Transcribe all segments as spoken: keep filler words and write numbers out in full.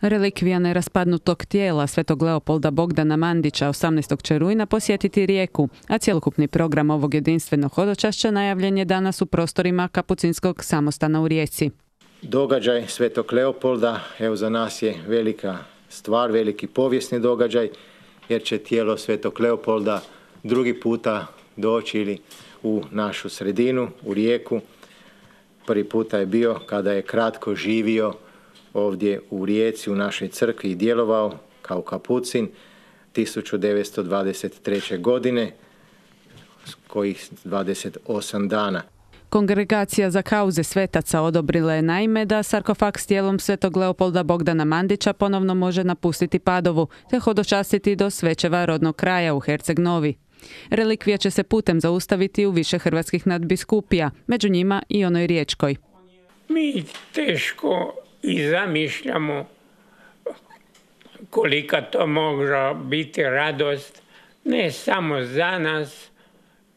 Relikvija neraspadnutog tijela svetog Leopolda Bogdana Mandića osamnaestog će rujna posjetiti Rijeku, a cjelokupni program ovog jedinstvenog hodočašća najavljen je danas u prostorima Kapucinskog samostana u Rijeci. Događaj svetog Leopolda, evo za nas je velika stvar, veliki povijesni događaj, jer će tijelo svetog Leopolda drugi puta doći ili u našu sredinu, u Rijeku. Prvi puta je bio kada je kratko živio ovdje u Rijeci, u našoj crkvi i djelovao kao kapucin tisuću devetsto dvadeset treće. godine, kojih dvadeset osam dana. Kongregacija za kauze svetaca odobrila je naime da sarkofag s tijelom svetog Leopolda Bogdana Mandića ponovno može napustiti Padovu te hodočastiti do Svečeva rodnog kraja u Herceg Novi. Relikvija će se putem zaustaviti u više hrvatskih nadbiskupija, među njima i onoj riječkoj. Mi teško i zamišljamo kolika to može biti radost, ne samo za nas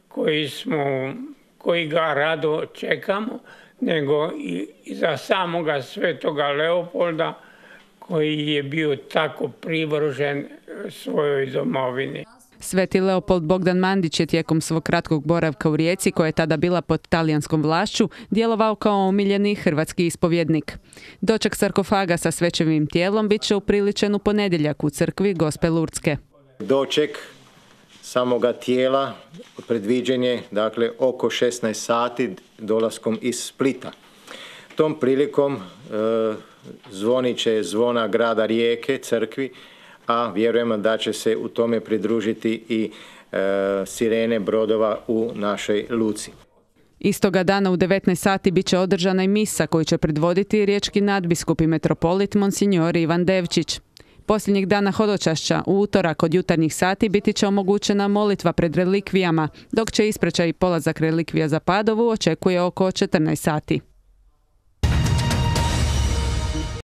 koji smo, koji ga rado čekamo, nego i za samoga svetoga Leopolda koji je bio tako privržen svojoj domovini. Sveti Leopold Bogdan Mandić je tijekom svog kratkog boravka u Rijeci, koja je tada bila pod talijanskom vlašću, djelovao kao omiljeni hrvatski ispovjednik. Doček sarkofaga sa svečevim tijelom bit će upriličen u ponedjeljak u crkvi Gospe Lurdske. Doček samoga tijela predviđen je dakle oko šesnaest sati dolaskom iz Splita. Tom prilikom e, zvonit će zvona grada Rijeke, crkvi, a vjerujemo da će se u tome pridružiti i e, sirene brodova u našoj luci. Istoga dana u devetnaest sati bit će održana i misa koju će predvoditi riječki nadbiskup i metropolit Monsignor Ivan Devčić. Posljednjih dana hodočašća u utorak od jutarnjih sati biti će omogućena molitva pred relikvijama, dok će ispraćaj i polazak relikvija za Padovu očekuje oko četrnaest sati.